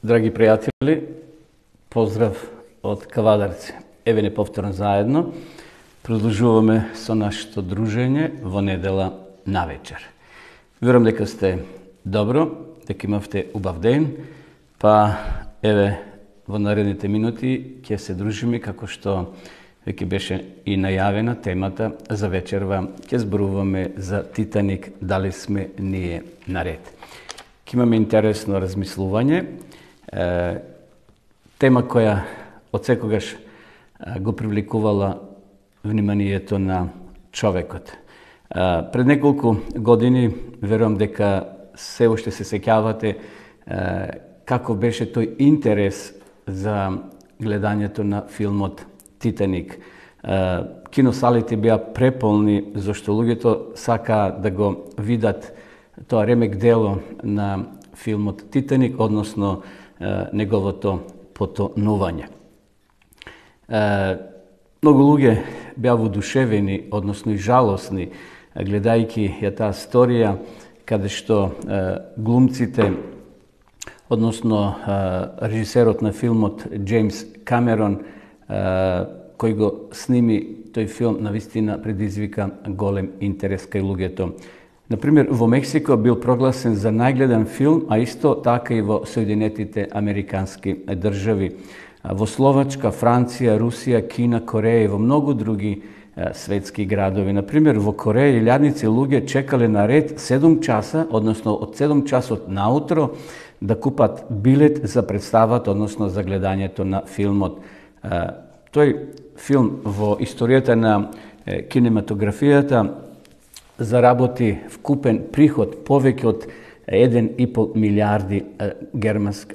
Драги пријатели, поздрав од Кавадарци. Еве неповторно заедно продолжуваме со нашето дружење во недела навечер. Верувам дека сте добро, дека имавте убав ден, па еве во наредните минути ќе се дружиме како што веќе беше и најавена темата за вечерва. Ќе зборуваме за Титаник, дали сме ние наред. Ќе имаме интересно размислување, тема која од секогаш го привлекувала вниманието на човекот. Пред неколку години, верувам дека се уште се сеќавате како беше тој интерес за гледањето на филмот Титаник. Киносалите беа преполни, зашто луѓето сакаа да го видат тоа ремек дело на филмот Титаник, односно неговото потонување. Многу луѓе беа воодушевени, односно и жалосни, гледајќи ја таа сторија, каде што глумците, односно режисерот на филмот Джеймс Камерон, кој го сними тој филм, навистина предизвика голем интерес кај луѓето. Например, во Мексико бил прогласен за најгледан филм, а исто така и во Соединетите Американски држави. Во Словачка, Франција, Русија, Кина, Кореја и во многу други светски градови. Например, во Кореја илјадници луѓе чекале на ред 7 часа, односно од 7 часот наутро, да купат билет за представата, односно за гледањето на филмот. Тој филм во историјата на кинематографијата заработи вкупен приход повеќе од 1,5 милиарди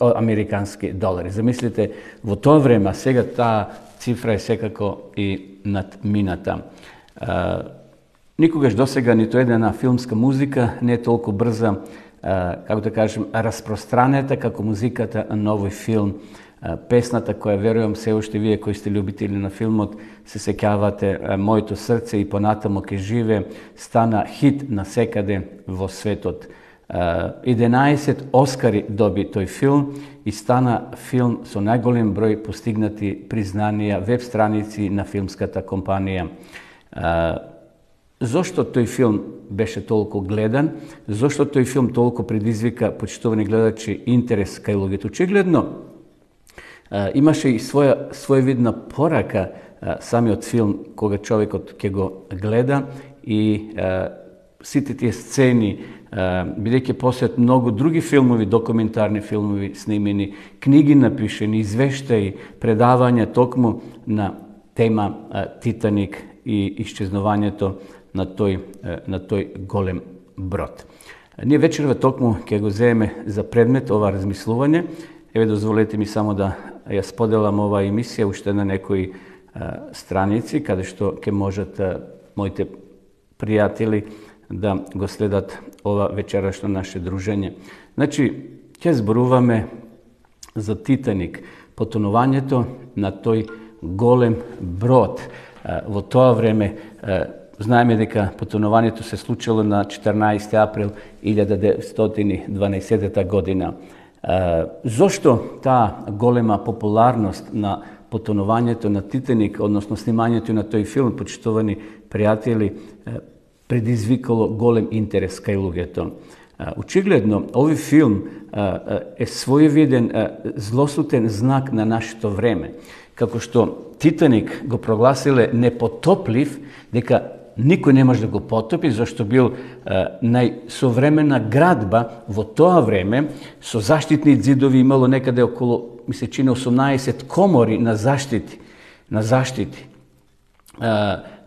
американски долари. Замислите, во тоа време, сега таа цифра е секако и надмината. Никогаш досега ниту една филмска музика не е толку брза, како да кажем, распространета како музиката на овој филм. Песната која верувам се уште вие кои сте љубители на филмот се сеќавате, Моето срце и понатамо ке живе, стана хит насекаде во светот. 11 Оскари доби тој филм и стана филм со најголем број постигнати признанија, веб страници на филмската компанија. Зошто тој филм беше толку гледан? Зошто тој филм толку предизвика, почитувани гледачи, интерес кај луѓето? Очигледно, имаше и своевидна порака самиот филм кога човекот ќе го гледа и сите тие сцени, бидејќи посет многу други филмови, документарни филмови снимени, книги напишени, извештаи, предавања токму на тема Титаник и исчезнувањето на тој голем брод. Ние вечерва токму ќе го земеме за предмет ова размислување. Еве, дозволете ми само да ја споделам оваа емисија уште на некои страници, каде што ќе можат моите пријатели да го следат ова вечерашно наше дружење. Значи, ќе зборуваме за Титаник, потонувањето на тој голем брод. Во тоа време, знаеме дека потонувањето се случило на 14 април 1912 година. Зошто таа голема популарност на потонувањето на Титаник, односно снимањето на тој филм, почитувани пријатели, предизвикало голем интерес кај луѓето? Очигледно, овој филм е своевиден злосутен знак на нашето време. Како што Титаник го прогласиле непотоплив, дека никој не може да го потопи, зашто бил најсовремена градба во тоа време, со заштитни ѕидови, имало некаде околу, ми се чини, 18 комори на заштити.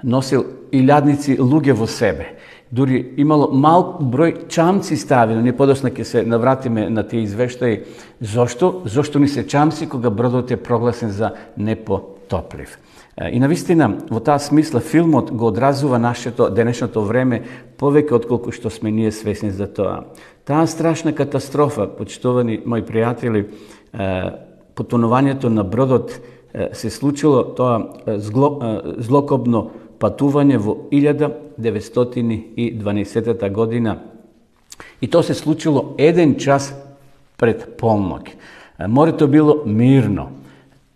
Носил илјадници луѓе во себе. Дури имало малку број чамци ставено, ние подосна ќе се навратиме на тие извештаи. Зошто ни се чамци кога бродот е прогласен за непотоплив? И навистина, во таа смисла, филмот го одразува нашето денешното време повеќе отколку што сме ние свесни за тоа. Таа страшна катастрофа, почитувани мои пријатели, потонувањето на бродот се случило, тоа злокобно патување во 1912 година. И тоа се случило 1 час пред полноќ. Морето било мирно,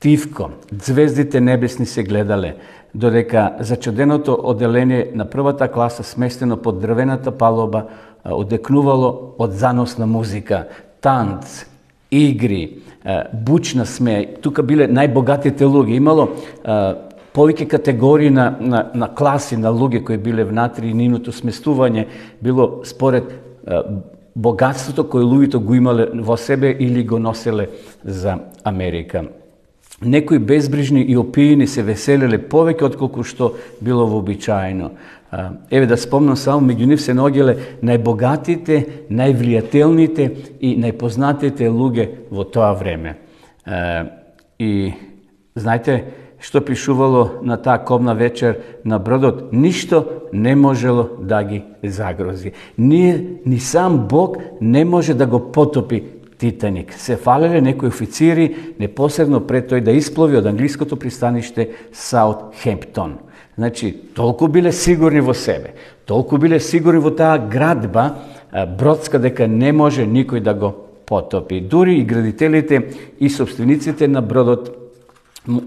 тивко, звездите небесни се гледале, додека зачуденото оделение на првата класа, сместено под дрвената палоба, одекнувало од заносна музика, танц, игри, бучна смеја. Тука биле најбогатите луѓе. Имало повеќе категории на класи на луѓе кои биле внатри, и нивното сместување било според богатството кој луѓето го имале во себе или го носеле за Америка. Некои безбрижни и опиени се веселеле повеќе отколку што било вообичаено. Еве да спомнам само, меѓу нив се наоѓале најбогатите, највлијателните и најпознатите луѓе во тоа време. И знаете што пишувало на таа кобна вечер на бродот? Ништо не можело да ги загрози. Ни сам Бог не може да го потопи Титаник. Се фалеле некои официри непосредно пред тој да исплови од англиското пристаниште Саутхемптон. Значи, толку биле сигурни во себе, толку биле сигурни во таа градба бродска, дека не може никој да го потопи. Дури и градителите и собствениците на бродот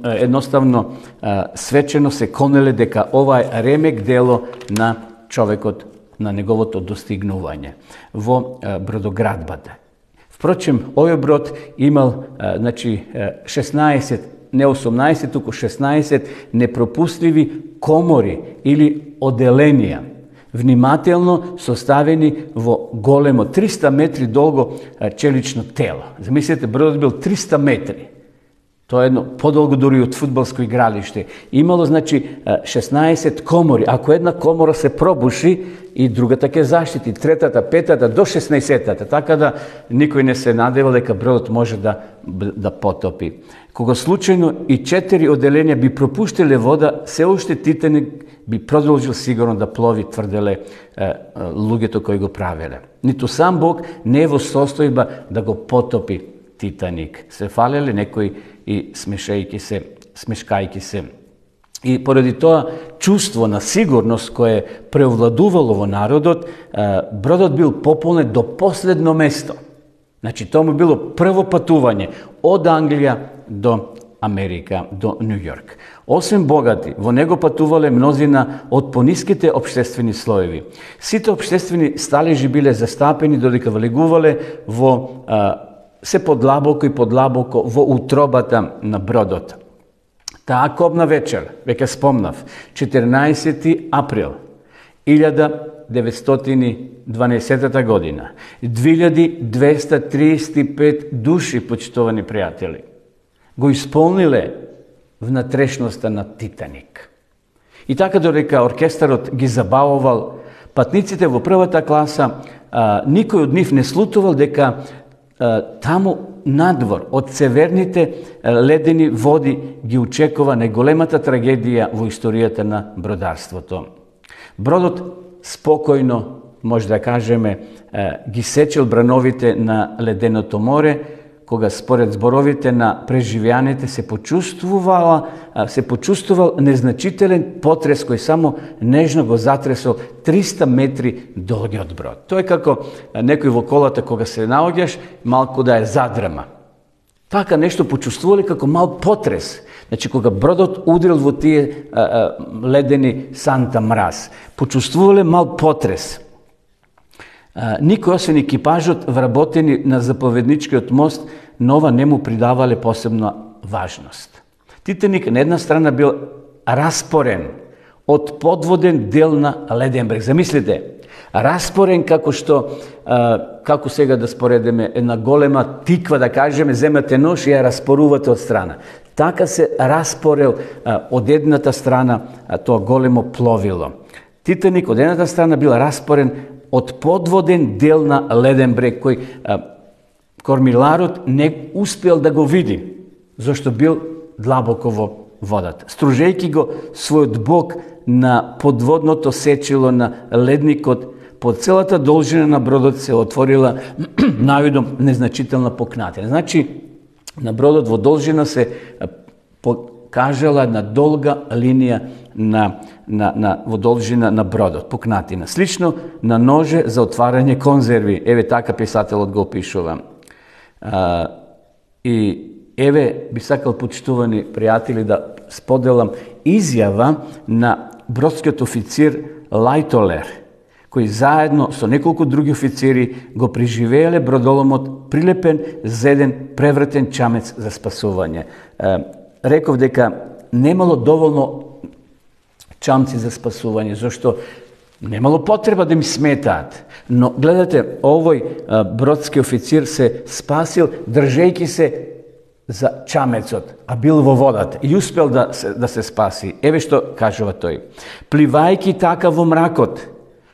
едноставно свечено се конеле дека ова е ремек дело на човекот, на неговото достигнување во бродоградбата. Впрочем, овој брод имал 16, не 18, туку 16 непропустливи комори или оделенија, внимателно составени во големо 300 метри долго челично тело. Замислете, бродот бил 300 метри. Тоа е едно подолго дури од фудбалско игралиште. Имало, 16 комори. Ако една комора се пробуши, и другата ќе заштити, третата, петата, до 16-тата. Така да никој не се надевал дека бродот може да потопи. Кога случајно и 4 оделенија би пропуштиле вода, се уште Титаник би продолжил сигурно да плови, тврделе луѓето кои го правеле. Ниту сам Бог не е во состојба да го потопи Титаник. Се фалеле некои и смешкајки се. И поради тоа чувство на сигурност кое преовладувало во народот, бродот бил пополнет до последно место. Значи, тоа му било прво патување од Англија до Америка, до Нью Йорк. Освен богати, во него патувале мнозина од пониските општествени слоеви. Сите општествени сталежи биле застапени додека влегувале во се подлабоко и подлабоко во утробата на бродот. Таа кобна вечер, веќе спомнав, 14. април 1912 година, 2235 души, почитувани пријатели, го исполниле внатрешноста на Титаник. И така додека оркестарот ги забавувал патниците во првата класа, никој од нив не слутувал дека таму надвор од северните ледени води ги очекува најголемата трагедија во историјата на бродарството. Бродот спокојно, може да кажеме, ги сечел брановите на леденото море, кога според зборовите на преживеаните се почувствувал незначителен потрес кој само нежно го затресол 300 метри долгиот брод. Тоа е како некој во колата кога се наоѓаш, малку да е задрама. Така нешто почувствувале како мал потрес. Значи, кога бродот удрил во тие ледени санта мраз, почувствувале мал потрес. Никој освен екипажот вработени на заповедничкиот мост, нова не му придавале посебна важност. Титаник на една страна бил распорен од подводен дел на леден брег. Замислите, распорен како што, како сега да споредеме, една голема тиква, да кажеме, земате нож и ја распорувате од страна. Така се распорел од едната страна тоа големо пловило. Титаник од едната страна бил распорен од подводен дел на леден брег, кој кормиларот не успел да го види, зашто бил длабоко во водата. Стружејќи го својот бок на подводното сечило на ледникот, по целата должина на бродот се отворила навидом незначителна пукнатина. Значи, на бродот во должина се покажала една долга линија во должина на бродот, пукнатина. Слично на ноже за отварање конзерви. Еве така писателот го опишува. И еве би сакал, почитувани пријатели, да споделам изјава на бродскиот официр Лајтолер, кој заедно со неколку други официри го преживееле бродоломот, прилепен за еден превртен чамец за спасување. Реков дека немало доволно чамци за спасување, зашто немало потреба да ми сметаат. Но гледате, овој бродски официр се спасил држејќи се за чамецот, а бил во водата и успел да се спаси. Еве што кажува тој. Пливајќи така во мракот,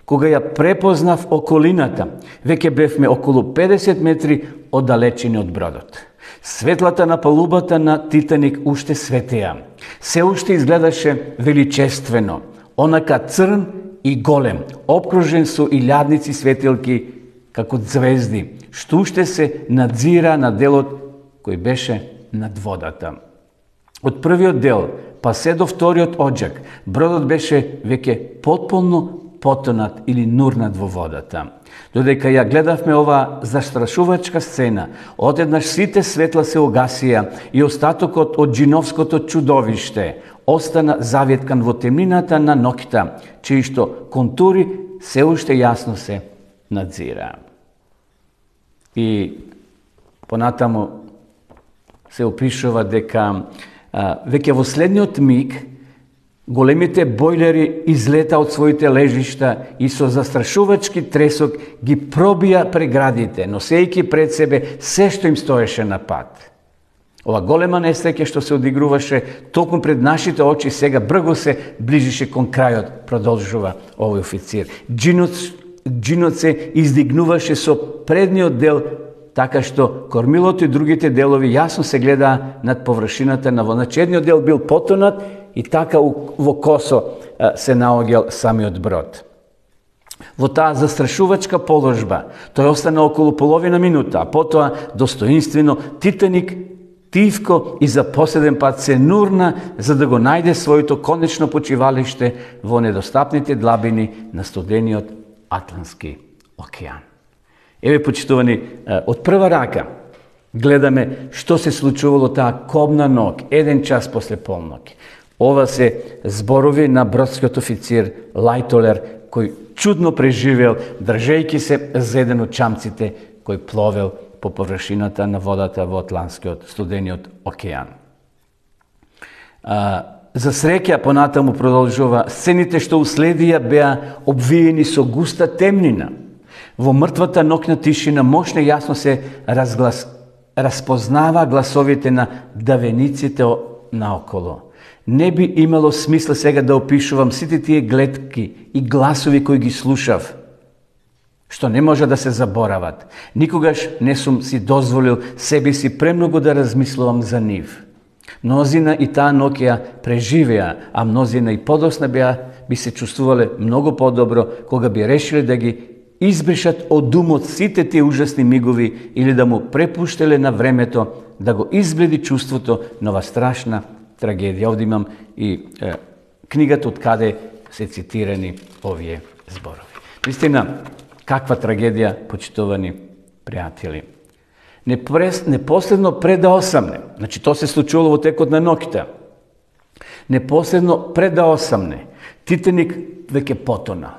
кога ја препознав околината, веќе бевме околу 50 метри оддалечени од бродот. Светлата на палубата на Титаник уште светеа. Се уште изгледаше величествено, онака црн и голем, обкружен со илјадници светилки како звезди, што уште се надзира на делот кој беше над водата. Од првиот дел па се до вториот оджак, бродот беше веќе потполно потонат или нурнат во водата. Додека ја гледавме ова застрашувачка сцена, одеднаш сите светла се огасија и остатокот од джиновското чудовиште остана заветкан во темнината на ноќта, чиишто контури се уште јасно се надзира. И понатаму се опишува дека веќе во следниот миг големите бојлери излета од своите лежишта и со застрашувачки тресок ги пробија преградите, носејќи пред себе се што им стоеше на пат. Ова голема несреќа што се одигруваше токму пред нашите очи сега брго се ближише кон крајот, продолжува овој официр. Джинот се издигнуваше со предниот дел, така што кормилото и другите делови јасно се гледа над површината на водата. Едниот дел бил потонат и така во косо се наоѓал самиот брод. Во таа застрашувачка положба тој остана околу половина минута, а потоа достоинствено Титаник тивко и за последен пат се нурна за да го најде своето конечно почивалиште во недостапните длабини на студениот Атлантски океан. Еве, почитувани, од прва рака гледаме што се случувало таа кобна ноќ, 1 час после полноќ. Ова се зборови на бродскиот официр Лајтолер, кој чудно преживел, држејќи се за еден од чамците кој пловел по површината на водата во Атлантскиот студениот океан. За среќа, понатаму продолжува, сцените што уследија беа обвиени со густа темнина. Во мртвата ноќна тишина мощно јасно се распознава гласовите на давениците наоколо. Не би имало смисла сега да опишувам сите тие гледки и гласови кои ги слушав, што не може да се заборават. Никогаш не сум си дозволил себе си премногу да размислувам за нив. Мнозина и таа ноќ ја преживеа, а мнозина и подосна би се чувствувале многу подобро кога би решиле да ги избришат од думот сите тие ужасни мигови или да му препуштеле на времето да го избледи чувството на ова страшна трагедија. Овде имам и книгата од каде се цитирани овие зборови. Вистина, каква трагедија, почитувани пријатели. Непоследно пред да осамне, значи тоа се случувало во текот на ноќта, непоследно пред да осамне, Титаник веќе потона.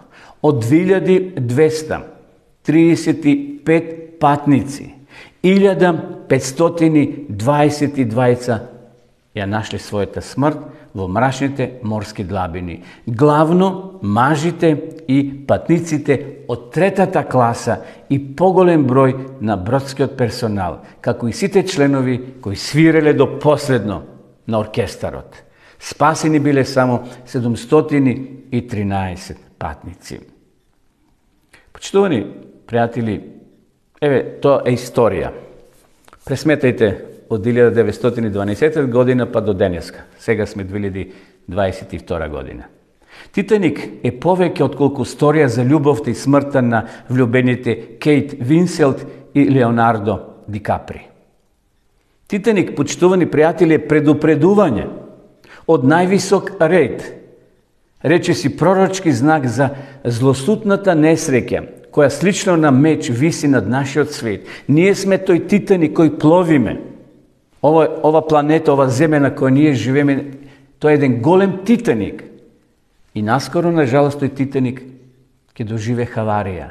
Од 2235 патници, 1522 ја нашли својата смрт во мрачните морски длабини. Главно мажите и патниците од третата класа и поголем број на бродскиот персонал, како и сите членови кои свиреле до последно на оркестарот. Спасени биле само 713 патници. Почитувани пријатели, еве, тоа е историја. Пресметајте од 1912 година па до денеска. Сега сме 2022 година. Титаник е повеќе отколку сторија за љубовта и смртта на влюбените Кейт Винселт и Леонардо Ди Капри. Титаник, почитувани пријатели, е предупредување од највисок ред. Речиси пророчки знак за злосутната несреќа, која слично на меч виси над нашиот свет. Ние сме тој Титаник кој пловиме. ова планета, ова земја на која ние живееме, тоа е еден голем Титаник. И наскоро, на жалост, тој Титаник ќе доживе хаварија.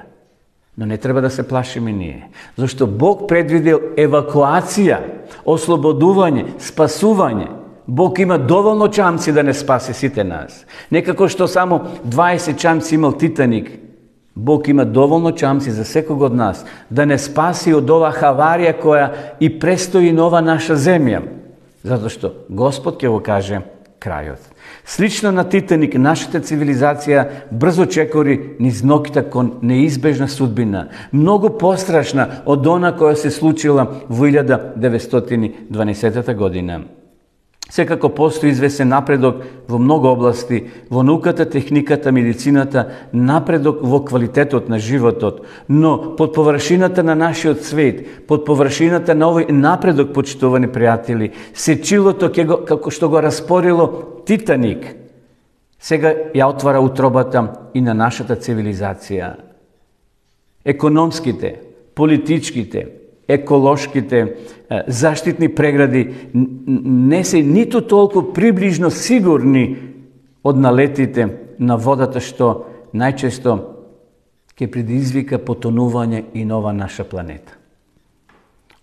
Но не треба да се плашиме ние. Зашто Бог предвидел евакуација, ослободување, спасување. Бог има доволно чамци да не спаси сите нас. Некако што само 20 чамци имал Титаник, Бог има доволно чамци за секого од нас да не спаси од ова хаварија која и престои на ова наша земја. Затоа што Господ ќе го каже крајот. Слично на Титаник, нашата цивилизација брзо чекори низ ноките кон неизбежна судбина, многу пострашна од она која се случила во 1912 година. Секако постои известен напредок во многу области, во науката, техниката, медицината, напредок во квалитетот на животот, но под површината на нашиот свет, под површината на овој напредок, почитувани пријатели, сечилото како што го распорило Титаник, сега ја отвара утробата и на нашата цивилизација. Економските, политичките, еколошките, заштитни прегради не се ниту толку приближно сигурни од налетите на водата што најчесто ќе предизвика потонување и нова наша планета.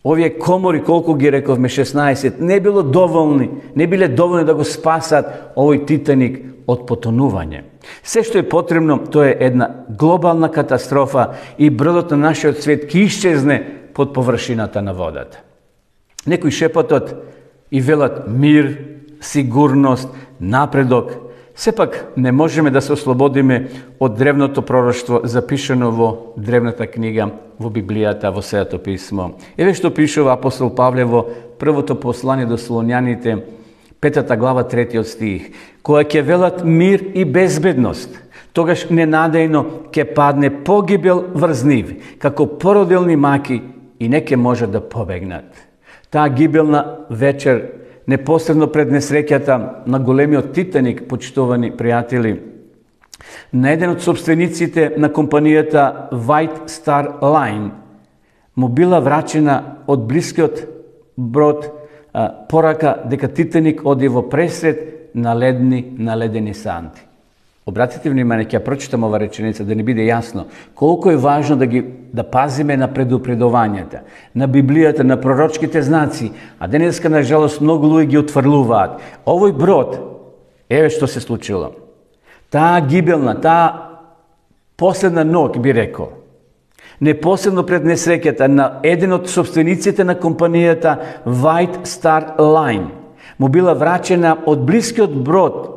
Овие комори, колку ги рековме, 16, не биле доволни да го спасат овој Титаник од потонување. Се што е потребно, тоа е една глобална катастрофа и бродот на нашиот свет ќе исчезне под површината на водата. Некои шепотот и велат мир, сигурност, напредок. Сепак не можеме да се ослободиме од древното пророштво запишано во древната книга, во Библијата, во Светото писмо. Еве што пишува апостол Павле во првото послание до Солуњаните, 5 глава, 3 стих. Која ќе велат мир и безбедност, тогаш ненадејно ќе падне погибел врз нив, како породилни маки, и не ќе може да побегнат. Таа гибелна вечер, непосредно пред несреќата на големиот Титаник, почитувани пријатели, на еден од собствениците на компанијата White Star Line му била врачена од блискиот брод порака дека Титаник оди во пресред на ледени санти. Обратите внимание, ќе ја прочитам ова реченица да не биде јасно колку е важно да пазиме на предупредувањата, на Библијата, на пророчките знаци, а денеска на жалост многу луѓе ги отфрлуваат. Овој брод, еве што се случило. Таа гибелна, таа последна ног, би рекол, непосредно пред несреќата на еден од собствениците на компанијата White Star Line му била врачена од блискиот брод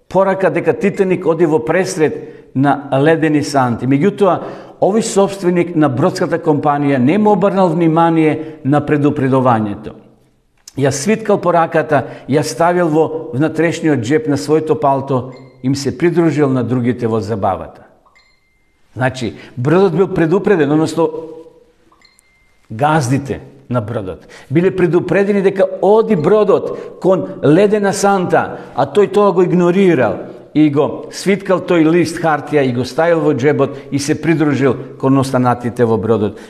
порака дека Титаник оди во пресред на ледени санти. Меѓутоа, овој собственик на бродската компанија не му обрнал внимание на предупредувањето. Ја свиткал пораката, ја ставил во внатрешниот джеп на своето палто, им се придружил на другите во забавата. Значи, бродот бил предупреден, односно газдите на бродот биле предупредени дека оди бродот кон ледена санта, а тој тоа го игнорирал и го свиткал тој лист хартија и го ставил во джебот и се придружил кон останатите во бродот.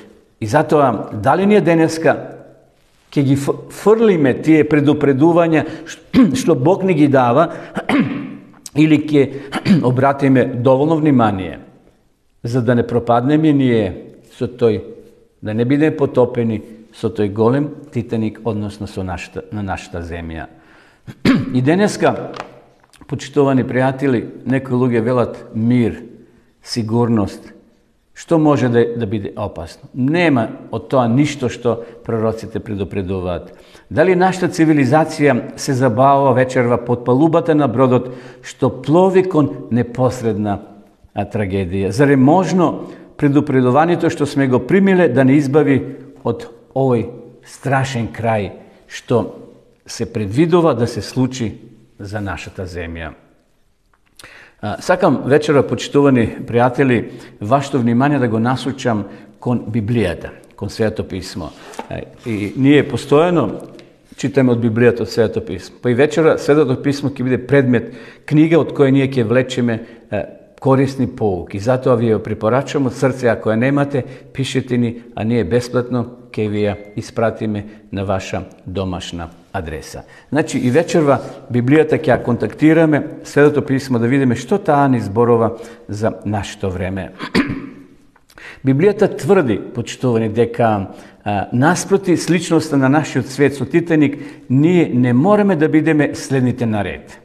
И затоа, дали ние денеска ќе ги фрлиме тие предупредувања што Бог ни ги дава или ќе обратиме доволно внимание за да не пропаднеме ние со тој, да не бидеме потопени со тој голем Титаник, односно на нашата земја. И денеска, почитувани пријатели, некои луѓе велат мир, сигурност. Што може да биде опасно? Нема од тоа ништо што пророците предупредуваат. Дали нашата цивилизација се забавува вечерва под палубата на бродот што плови кон непосредна трагедија? Заре можно предупредувањето што сме го примиле да не избави од овој страшен крај што се предвидува да се случи за нашата земја? Сакам вечера, почитувани пријатели, вашето внимание да го насочам кон Библијата, кон Светото писмо. И ние постојано читаме од Библијата, од Светото писмо. Па и вечера Светото писмо ќе биде предмет книга од која ние ќе влечеме корисни поуки. Затоа ви ја препорачувам од срце, ако ја немате, пишете ни, а ние бесплатно ќе ќе ви ја испратиме на ваша домашна адреса. Значи и вечерва Библијата ќе ја контактираме, Светото писмо да видиме што таа ни зборува за нашето време. Библијата тврди, почитувани, дека наспроти сличноста на нашиот свет со Титаник, ние не мораме да бидеме следните на ред.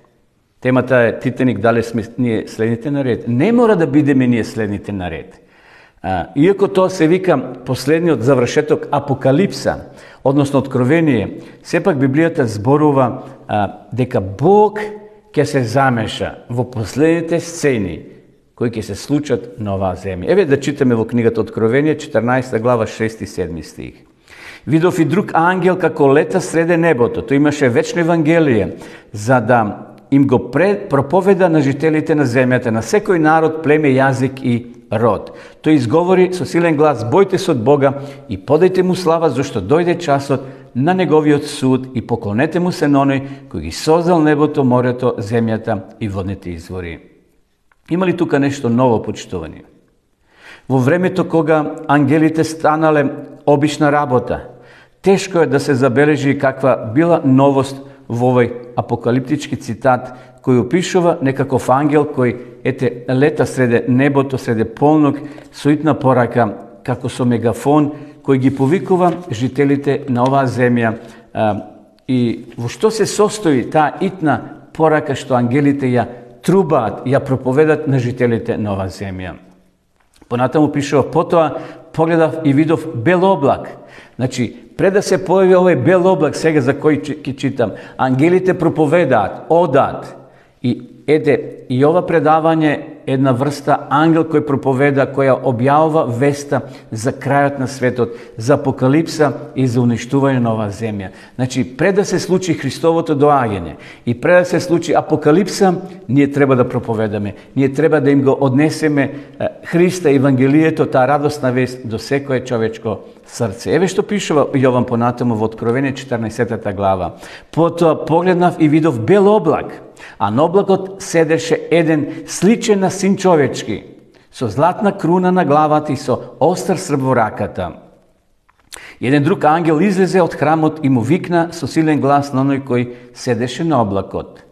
Темата е Титаник, дали сме ние следните на ред. Не мора да бидеме ние следните на ред. Иако тоа се вика последниот завршеток Апокалипса, односно Откровение, сепак Библијата зборува дека Бог ќе се замеша во последните сцени кои ќе се случат на оваа земја. Еве да читаме во книгата Откровение, 14 глава, 6 и 7 стих. Видов и друг ангел како лета среде небото. Тој имаше вечно евангелие, за да им го проповеда на жителите на земјата, на секој народ, племе, јазик и род. Тој изговори со силен глас: бојте се од Бога и подајте му слава, зашто дојде часот на неговиот суд, и поклонете му се на оној кој ги создал небото, морето, земјата и водните извори. Има ли тука нешто ново, почитувани? Во времето кога ангелите станале обична работа, тешко е да се забележи каква била новост во овој апокалиптички цитат, кој опишува некаков ангел кој лета среде небото, среде полнок, со итна порака, како со мегафон, кој ги повикува жителите на оваа земја. И во што се состои таа итна порака што ангелите ја трубаат, ја проповедат на жителите на оваа земја? Понатаму пишува: потоа погледав и видов бел облак. Значи, пред да се појави овој бел облак, сега за кој ќе читам, ангелите проповедаат, одаат. И ова предавање една врста ангел кој проповеда, која објавува веста за крајот на светот, за апокалипса и за уништување на оваа земја. Значи, пред да се случи Христовото доаѓање и пред да се случи апокалипса, ние треба да проповедаме. Ние треба да им го однесеме Христа, Евангелието, таа радосна вест до секое човечко срце. Еве што пишува Јован понатаму во Откровение 14 глава. Потоа погледнав и видов бел облак, а на облакот седеше еден сличен на син човечки, со златна круна на главата и со остар срб во раката. Еден друг ангел излезе од храмот и му викна со силен глас на оној кој седеше на облакот: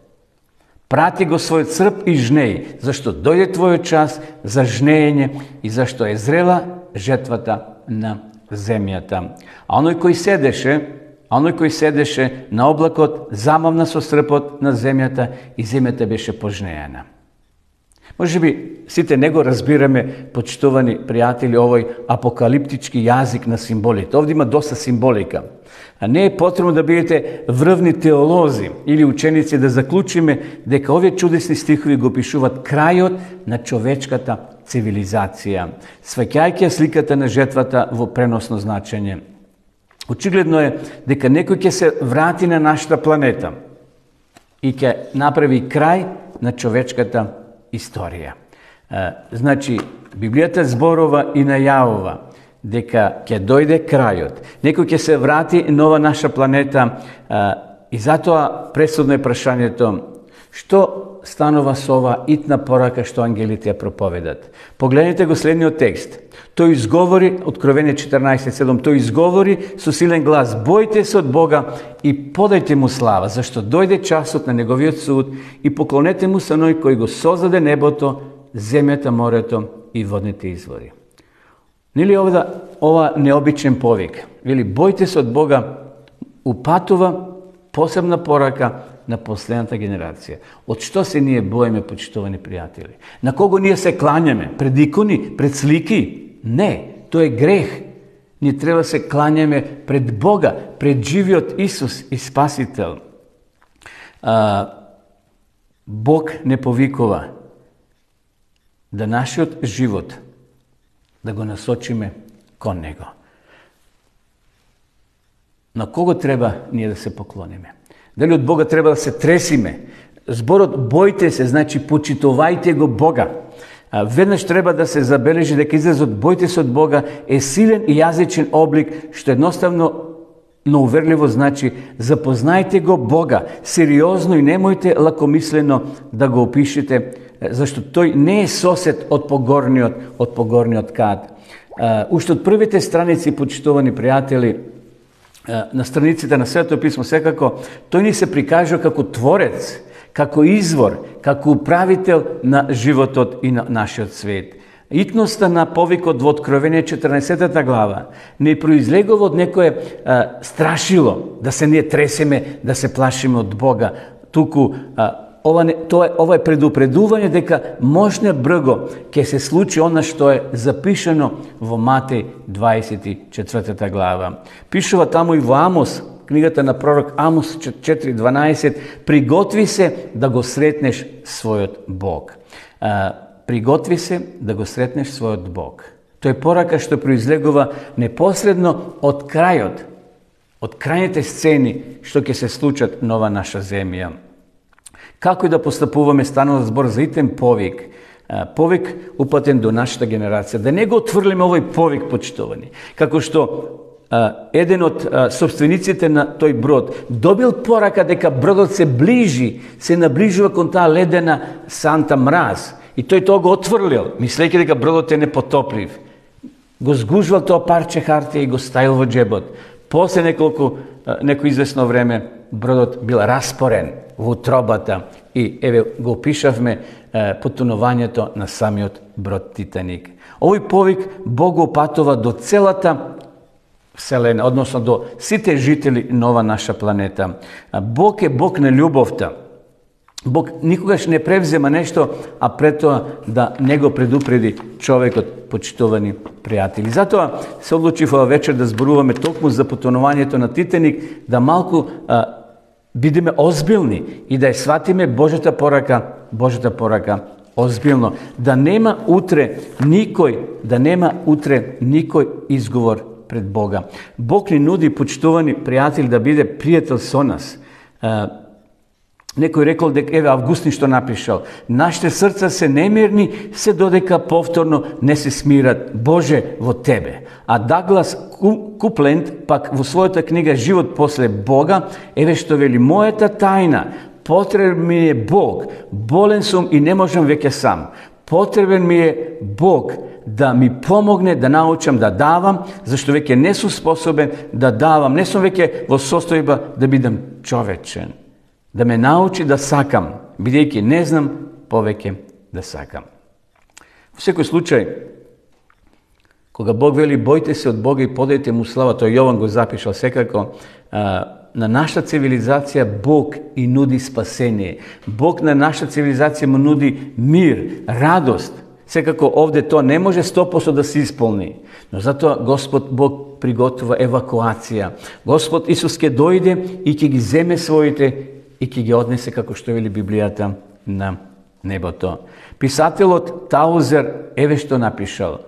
прати го својот срб и жнеј, зашто дојде твојот час за жнеење и зашто е зрела жетвата на земјата. А оној кој седеше на облакот замавна со српот на земјата и земјата беше пожнеена. Може би сите не го разбираме, почитувани пријатели, овој апокалиптички јазик на символите. Овде има доста символика. А не е потребно да бидете врвни теолози или ученици да заклучиме дека овие чудесни стихови го пишуваат крајот на човечката цивилизација, сваќајќи сликата на жетвата во преносно значење. Очигледно е дека некој ќе се врати на нашата планета и ќе направи крај на човечката историја. Значи, Библијата зборува и најавува дека ќе дојде крајот. Некој ќе се врати на ова наша планета и затоа пресудно е прашањето: што станува со ова итна порака што ангелите ја проповедат? Погледнете го следниот текст. Тој изговори, Откровение 14:7, тој изговори со силен глас: бојте се од Бога и подајте му слава, зашто дојде часот на неговиот суд, и поклонете му се оној кој го создаде небото, земјата, морето и водните извори. Нели ова необичен повик? Вели: бојте се од Бога, упатува посебна порака на последната генерација. Од што се ние боиме, почитувани пријатели? На кого ние се клањаме? Пред икони, пред слики? Не, тоа е грех. Ние треба се клањаме пред Бога, пред живиот Исус и Спасител. Бог не повикува да нашиот живот да го насочиме кон Него. На кого треба ние да се поклониме? Дали од Бога треба да се тресиме? Зборот бојте се, значи почитувајте го Бога. Веднаш треба да се забележи дека изразот бојте се од Бога е силен и јазичен облик, што едноставно, но уверливо значи запознајте го Бога сериозно и немојте лакомислено да го опишете, зашто тој не е сосед од погорниот кат. уште од првите страници, почитувани пријатели, на страниците на Светото писмо, секако, тој ни се прикажува како творец, како извор, како управител на животот и на нашиот свет. Итноста на повикот во Откровение 14 глава не произлегува од некое страшило, да се ние тресеме, да се плашиме од Бога, туку ова е предупредување дека можне брго ќе се случи она што е запишано во Матеј 24 глава. Пишува таму и во Амос, книгата на пророк Амос 4:12, приготви се да го сретнеш својот Бог. Приготви се да го сретнеш својот Бог. Тој е порака што произлегува непосредно од крајот, од крајните сцени што ќе се случат на ова наша земја. Како и да постапуваме, станува збор за итен повик. Повик упатен до нашата генерација. Да не го отврлиме овој повик, почитувани. Како што еден од собствениците на тој брод добил порака дека бродот се ближи, се наближува кон таа ледена санта мраз. И тој тоа го отврлил, мислејќи дека бродот е непотоплив. Го згужвал тоа парче хартија и го ставил во джебот. После некој известно време бродот бил распорен во утробата и еве го опишавме потонувањето на самиот брод Титаник. Овој повик Бог го опатува до целата Вселена, односно до сите жители на ова наша планета. Бог е Бог на љубовта. Бог никогаш не превзема нешто, а пред тоа да не го предупреди човекот, почитувани пријатели. Затоа се одлучив ова вечер да зборуваме токму за потонувањето на Титаник, да малку бидеме озбилни и да ја сватиме Божјата порака озбилно. Да нема утре никој изговор пред Бога. Бог ни нуди, почитувани пријатели, да биде пријател со нас. Некој рекол дека, еве, Августин што напишал, нашите срца се немирни, се додека повторно не се смират, Боже, во Тебе. А Даглас Купленд, пак во својата книга Живот после Бога, еве што вели, мојата тајна, потребен ми е Бог, болен сум и не можам веќе сам. Потребен ми е Бог да ми помогне да научам да давам, зашто веќе не сум способен да давам, не сум веќе во состојба да бидам човечен. Да ме научи да сакам, бидејќи не знам повеќе да сакам. Во секој случај, кога Бог вели бојте се од Бога и подајте му слава, тој Јован го запишал секако, на нашата цивилизација Бог и нуди спасение. Бог на нашата цивилизација му нуди мир, радост. Секако овде тоа не може 100% да се исполни. Но затоа Господ Бог приготвува евакуација. Господ Исус ќе дојде и ќе ги земе своите и ќе ги однесе, како што вели Библијата, на небото. Писателот Таузер еве што напишал.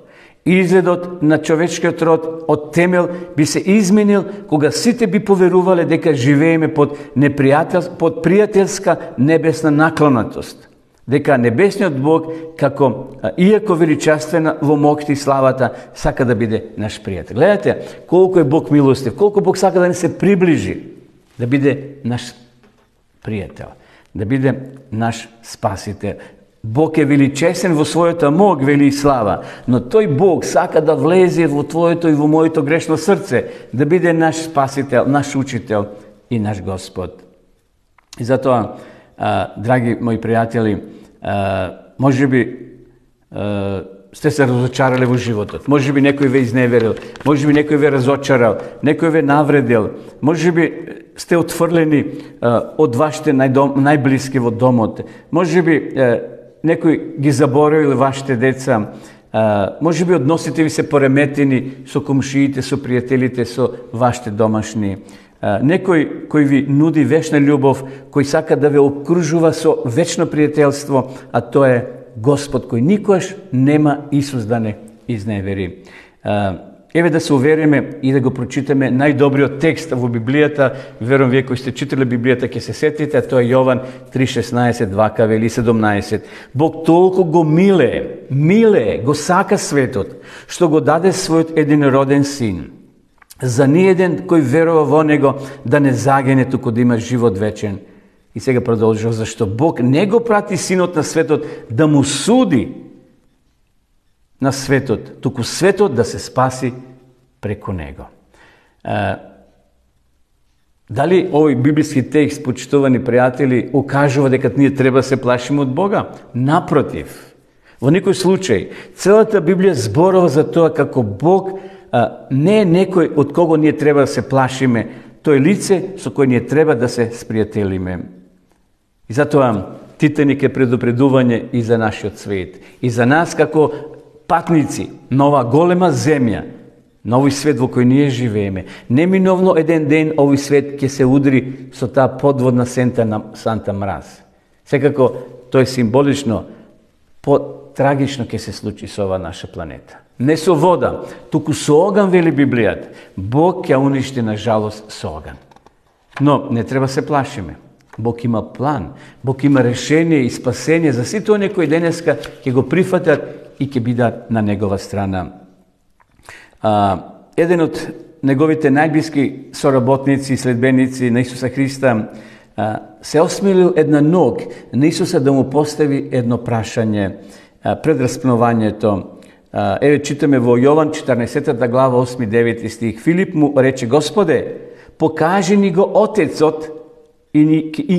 Изгледот на човечкиот род од темел би се изменил кога сите би поверувале дека живееме под пријателска небесна наклонатост. Дека небесниот Бог, како иако величествена во моќта и славата, сака да биде наш пријател. Гледате колку е Бог милостив, колку Бог сака да не се приближи, да биде наш пријател, да биде наш спасител. Бог е величесен во својата мог, вели и слава, но тој Бог сака да влезе во твоето и во моето грешно срце, да биде наш спасител, наш учител и наш Господ. И затоа, драги мои пријатели, може би сте се разочарали во животот, може би некој ве изневерил, може би некој ве разочарал, некој ве навредил, може би сте отфрлени од вашите најблиски во домот, може би некој ги заборавил вашите деца, може би односите ви се пореметени со комшиите, со пријателите, со вашите домашни. Некој кој ви нуди вечна љубов, кој сака да ве окружува со вечно пријателство, а тоа е Господ кој никогаш нема Исус да не изневери. Еве да се увериме и да го прочитаме најдобриот текст во Библијата. Верувам вие кои сте читали Библијата ќе се сетите, а тоа е Јован 3:16, 2 вели 17. Бог толку го милее, го сака светот, што го даде својот единороден син. За ниеден кој верува во него да не загине, туку да има живот вечен. И сега продолжува, зашто Бог не го прати синот на светот да му суди. на светот, туку светот да се спаси преку него. Дали овој библиски текст, почитувани пријатели, укажува дека ние треба да се плашиме од Бога? Напротив, во никој случај, целата Библија зборува за тоа како Бог не е некој од кого ние треба да се плашиме, тој лице со кој ние треба да се спријателиме. И затоа Титаник е предупредување и за нашиот свет, и за нас како патници на оваа голема земја, на овој свет во кој ние живееме. Неминовно еден ден овој свет ќе се удри со таа подводна санта мраз. Секако тоа е символично, потрагично ќе се случи со оваа наша планета. Не со вода, туку со оган, вели Библијата. Бог ќе уништи на жалост со оган. Но не треба се плашиме. Бог има план, Бог има решение и спасение за сите оние кои денеска ќе го прифатат и ќе бидат на негова страна. Еден од неговите најблиски соработници и следбеници на Исуса Христа се осмелил една ног на Исуса да му постави едно прашање пред распнувањето. Еве читаме во Јован 14 глава 8-9 стих. Филип му рече: Господе, покажи ни го Отецот и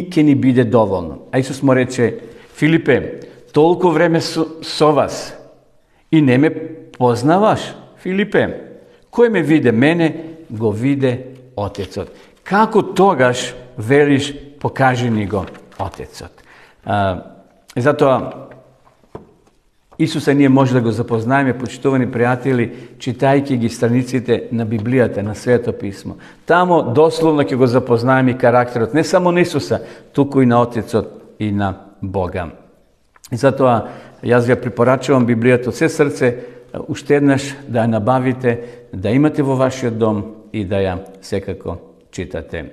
ќе ни биде доволно. А Исус му рече: Филипе, толку време со вас и не ме познаваш? Филипе, кој ме виде мене, го виде Отецот. Како тогаш велиш: покажи ни го Отецот? Затоа Исуса ние може да го запознаеме, почитувани пријатели, читајќи ги страниците на Библијата, на Свето писмо. Тамо дословно ќе го запознаеме и карактерот не само на Исуса, туку и на Отецот и на Бога. И затоа јас ја препорачувам Библијата од се срце, уште еднаш да ја набавите, да имате во вашиот дом и да ја секако читате.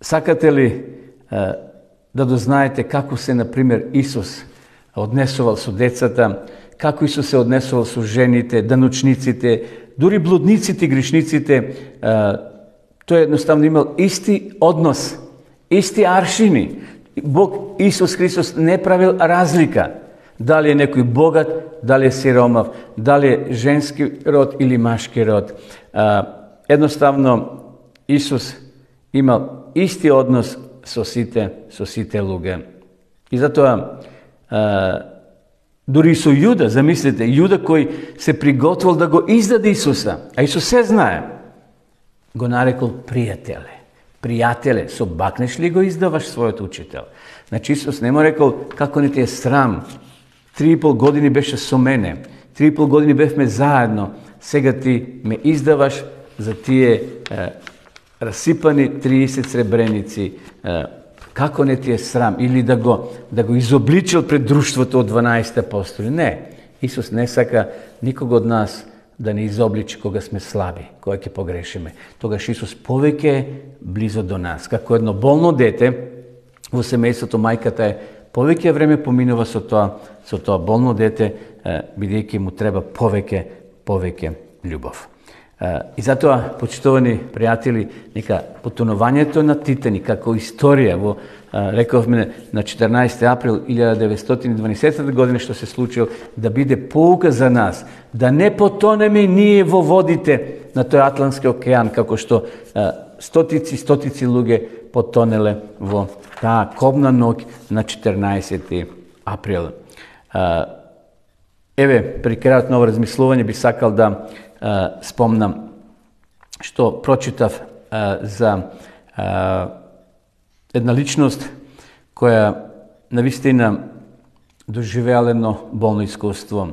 Сакате ли да дознаете како се, например, Исус однесувал со децата, како Исус се однесувал со жените, даночниците, дури блудниците и грешниците? Тој едноставно имал исти однос, исти аршини. Бог Исус Христос не правил разлика. Дали е некој богат, дали е сиромав, дали е женски род или машки род. Едноставно Исус имал исти однос со сите луѓе. И затоа дури со Јуда, замислете, Јуда кој се приготвил да го издаде Исуса, а Исус се знае, го нарекол пријателе. Пријателе, со бакнеш ли го издаваш својот учител? Значи Исус не му рекол: како не ти е срам, 3,5 години беше со мене, 3,5 години бевме заедно, сега ти ме издаваш за тие расипани 30 сребреници. Како не ти е срам? Или да го изобличил пред друштвото од 12 апостоли? Не. Исус не сака никого од нас да не изобличи кога сме слаби, кога ќе погрешиме. Тогаш Исус повеќе близо до нас. Како едно болно дете во семејството, мајката е повеќе време поминува со тоа болно дете, бидејќи му треба повеќе љубов. И затоа, почитувани пријатели, нека потонувањето на Титаник како историја во, рековме, на 14. април 1912 година што се случил, да биде поука за нас, да не потонеме ние во водите на тој Атлантски океан, како што стотици луѓе потонеле во таа кобна ноќ на 14. април. Еве, при крајот на ово размислување би сакал да спомнам што прочитав за една личност која навистина доживеала едно болно искуство.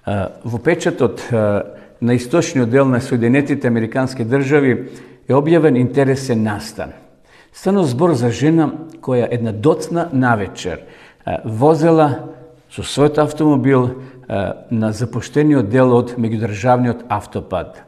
Во печатот на источниот дел на Соединетите Американски држави е објавен интересен настан. Станува збор за жена која една доцна навечер возела со својот автомобил на запуштениот дел од меѓудржавниот автопат.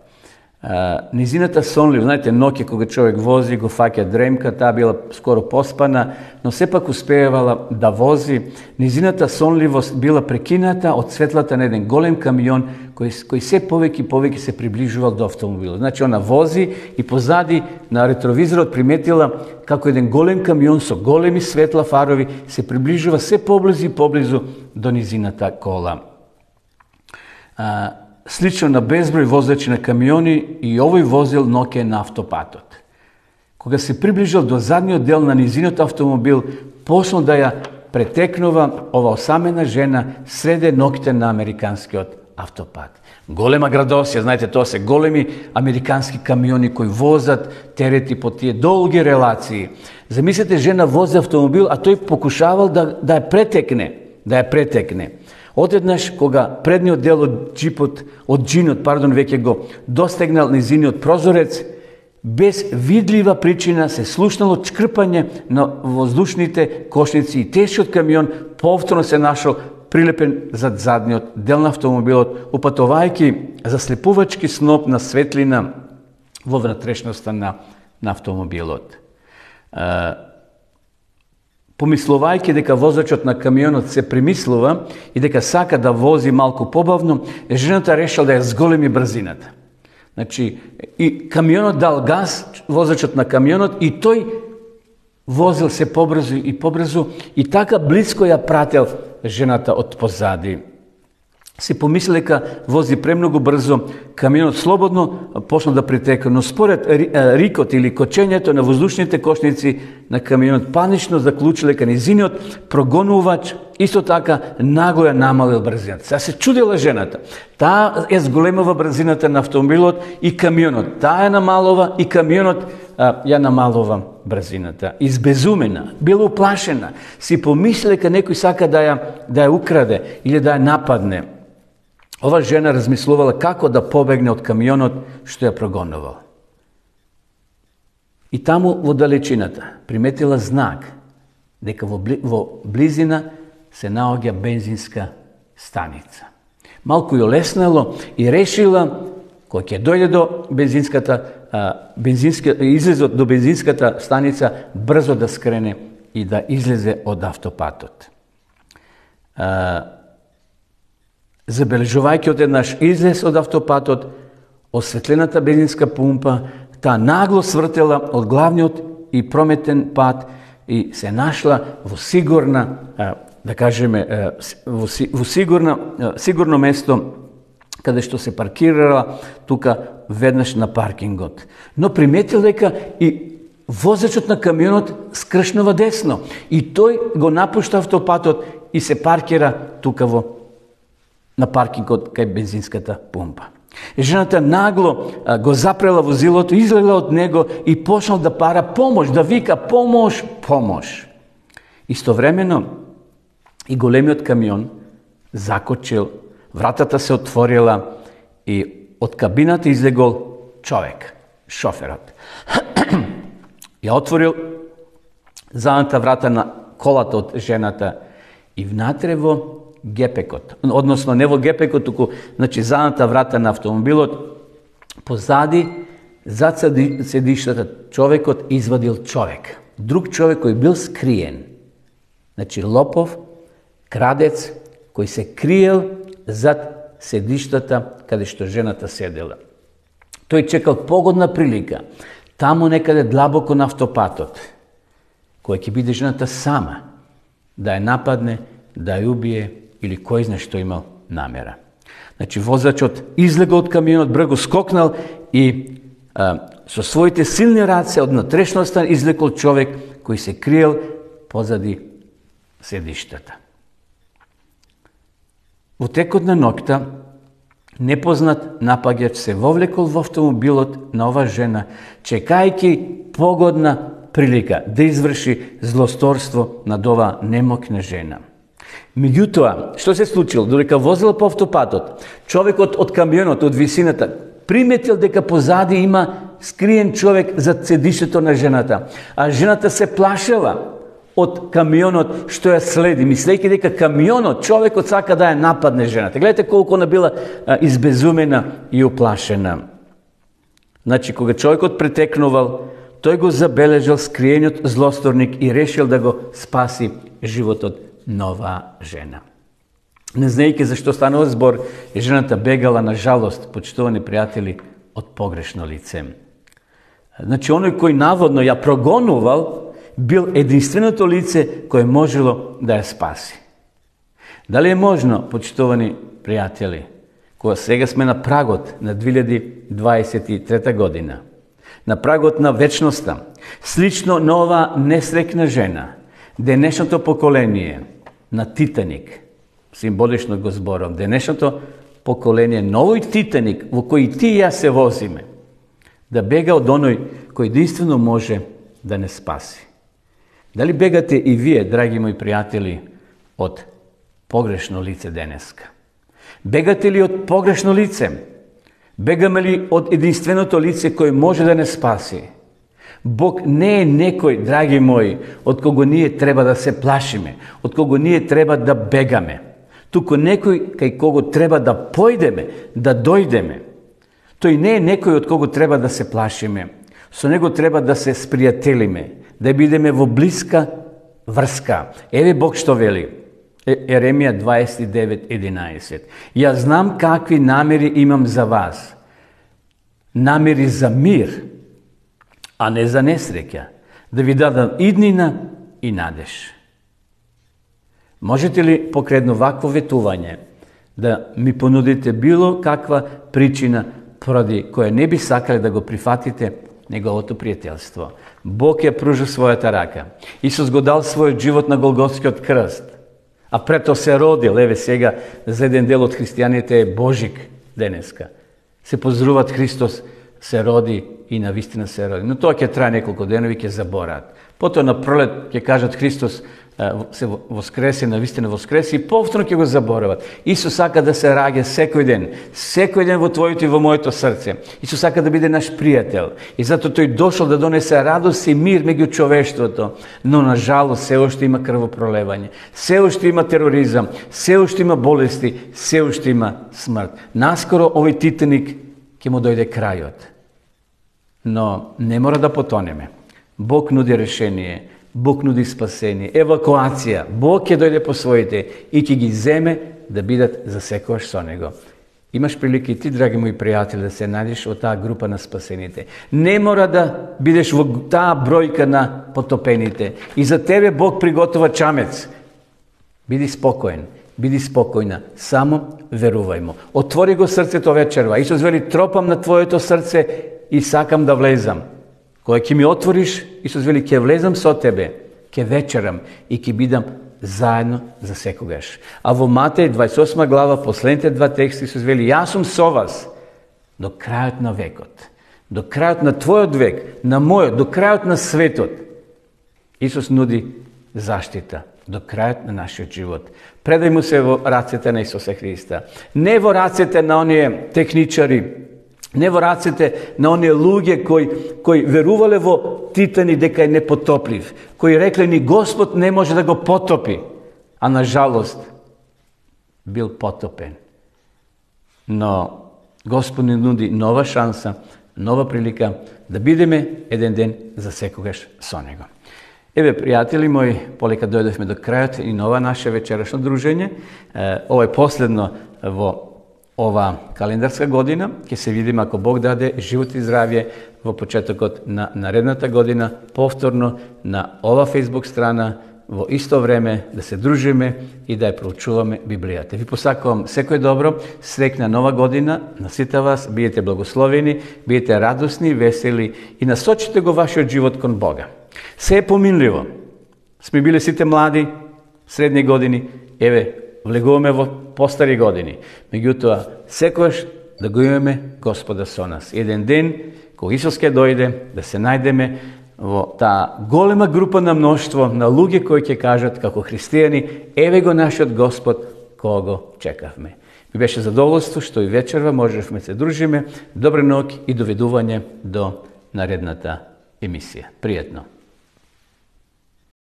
Низината сонлив, знаете, ноќе кога човек вози, го фаќа дремка, таа била скоро поспана, но сепак успеевала да вози. Низината сонливост била прекината од светлата на еден голем камион кој се повеќе се приближувал до автомобилот. Значи, она вози и позади на ретровизорот приметила како еден голем камион со големи светла фарови се приближува се поблизу и поблизу до низината кола. Слично на безброј возачи на камиони и овој возил ноќе на автопатот. Кога се приближил до задниот дел на низиниот автомобил, почнал да ја претекнува ова осамена жена среде ноќите на американскиот автопат. Голема градосија, знаете, тоа се големи американски камиони кои возат терети по тие долги релации. Замислете, жена вози автомобил, а тој покушавал да ја претекне. Одеднаш, кога предниот дел од джинот, веќе го достигнал низиниот прозорец, без видлива причина се слушнало чкрпање на воздушните кошници и тешкиот камион повторно се нашол прилепен зад задниот дел на автомобилот, упатувајќи заслепувачки сноп на светлина во внатрешноста на автомобилот. Помислувајќи дека возачот на камионот се премислува и дека сака да вози малку побавно, жената решила да ја зголеми брзината. Значи, и камионот дал газ, возачот на камионот, и тој возил се побрзо и така близко ја прател жената од позади. Си помисли дека вози премногу брзо, камионот слободно почна да притека, но според рикот или кочењето на воздушните кошници на камионот панично заклучил дека низиниот прогонувач исто така нагло ја намалил брзината. Сега се чудела жената. Таа ја зголемува брзината на автомобилот и камионот. Таа ја намалува и камионот ја намалува брзината. Избезумена, била уплашена, си помисли дека некој сака да ја украде или да ја нападне. Ова жена размислувала како да побегне од камионот што ја прогонувал. И таму во далечината приметила знак дека во близина се наоѓа бензинска станица. Малку ја леснало и решила кога ќе дојде до излезот до бензинската станица, брзо да скрене и да излезе од автопатот. Забележувајќи одеднаш излез од автопатот, осветлената бензинска пумпа, таа нагло свртела од главниот и прометен пат и се нашла во сигурна, да кажеме, во сигурно место каде што се паркирала тука веднаш на паркингот. Но приметил дека и возачот на камионот скршнува десно и тој го напушта автопатот и се паркира тука на паркингот кај бензинската пумпа. Жената нагло го запрела возилото, излегла од него и почнал да пара помош, да вика помош, помош. Истовремено и големиот камион закочил, вратата се отворила и од кабината излегол човек, шоферот. Ја отворил задната врата на колата од жената и внатре во гепекот, односно не во гепекот, туку задната врата на автомобилот, позади, зад седиштата, човекот извадил човек. Друг човек кој бил скриен. Лопов, крадец, кој се криел зад седиштата каде што жената седела. Тој чекал погодна прилика, таму некаде длабоко на автопатот, која ќе биде жената сама, да ја нападне, да ја убие или кој знае што имал намера. Возачот излегол од камионот, брзо скокнал и со своите силни раце од натрешноста излекол човек кој се криел позади седиштата. Во текот на ноќта, непознат напаѓач се вовлекол во автомобилот на ова жена, чекајќи погодна прилика да изврши злосторство над ова немокна жена. Меѓутоа, што се случило? Додека возила по автопатот, човекот од камионот, од висината, приметил дека позади има скриен човек зад седиштето на жената, а жената се плашела од камионот што ја следи, мислејќи дека камионот, човекот сака да ја нападне жената. Гледате колку она била избезумена и уплашена. Кога човекот претекнувал, тој го забележал скриениот злосторник и решил да го спаси животот на оваа жена. Не знаејќи зашто станува збор, жената бегала, на жалост, почитувани пријатели, од погрешно лице. Оној кој наводно ја прогонувал, бил единственото лице кое можело да ја спаси. Дали е можно, почитувани пријатели, кога сега сме на прагот на 2023 година, на прагот на вечноста, слично на ова несрекна жена, денешното поколение на Титаник, символично го зборам, денешното поколение, новој Титаник во кој ти и ја се возиме, да бега од оној кој единствено може да не спаси. Дали бегате и вие, драги мои пријатели, од погрешно лице денеска? Бегате ли од погрешно лице? Бегаме ли од единственото лице кој може да не спаси? Бог не е некој, драги мои, од кого ние треба да се плашиме, од кого ние треба да бегаме. Туку некој кај кого треба да појдеме, да дојдеме. Тој не е некој од кого треба да се плашиме. Со него треба да се спријателиме, да бидеме во блиска врска. Еве Бог што вели. Еремија 29:11. Ја знам какви намери имам за вас. Намери за мир, а не за несреќа. Да ви дадам иднина и надеж. Можете ли покрај вакво ветување да ми понудите било каква причина поради која не би сакале да го прифатите неговото пријателство? Бог ја пружа својата рака. Исус го дал својот живот на Голготскиот крст. А прето се родил, еве сега, за еден дел од христијаните е Божик денеска. Се поздруват Христос се роди и навистина се роди. Но тоа ќе трае неколку денови, ќе забораат. Потоа на пролет ќе кажат Христос се воскресе, навистина воскресе и повторно ќе го заборават. Исус сака да се раѓа секој ден во твоето и во моето срце. Исус сака да биде наш пријател. И затоа тој дошол да донесе радост и мир меѓу човештвото. Но на жалост се уште има крвопролевање, се уште има тероризам, се уште има болести, се уште има смрт. Наскоро овој Титаник ќе му дојде крајот. Но не мора да потонеме. Бог нуди решение, Бог нуди спасение, евакуација. Бог ќе дојде по своите и ќе ги земе да бидат за секојаш со него. Имаш прилика и ти, драги мои пријатели, да се најдеш во таа група на спасените. Не мора да бидеш во таа бројка на потопените. И за тебе Бог приготова чамец. Биди спокоен, биди спокојна, само верувај му. Отвори го срцето вечерва. Исус вели, тропам на твоето срце и сакам да влезам. Кога ќе ми отвориш, Исус вели, ќе влезам со тебе, ќе вечерам и ќе бидам заедно за секогаш. А во Матеј 28 глава, последните два текста, Исус вели, јас сум со вас до крајот на векот. До крајот на твојот век, на мојот, до крајот на светот. Исус нуди заштита до крајот на нашиот живот. Предај му се во рацете на Исуса Христа. Не во рацете на оние техничари, не во рацете на оние луѓе кои верувале во Титаник дека е непотоплив, кои рекле ни Господ не може да го потопи, а на жалост бил потопен. Но Господ ни нуди нова шанса, нова прилика да бидеме еден ден за секогаш со него. Еве, пријатели мои, полека дојдовме до крајот и на ова наше вечерашно дружење. Ова е последно во ова календарска година. Ќе се видиме, ако Бог даде живот и здравје, во почетокот на наредната година, повторно на ова Facebook страна, во исто време да се дружиме и да ја проучуваме Библијата. Ви посакувам секој добро, среќна нова година на сите вас, бидете благословени, бидете радосни, весели и насочите го вашиот живот кон Бога. Се е поминливо. Сме биле сите млади, средни години, еве, влегуваме во постари години. Меѓутоа, секојаш да го имаме Господа со нас. Еден ден, кога Исус ќе дојде, да се најдеме во таа голема група на мноштво на луѓе кои ќе кажат како христијани, еве го нашиот Господ, кого чекавме. Ми беше задоволство што и вечерва можевме се дружиме. Добра ноќ и доведување до наредната емисија. Пријатно.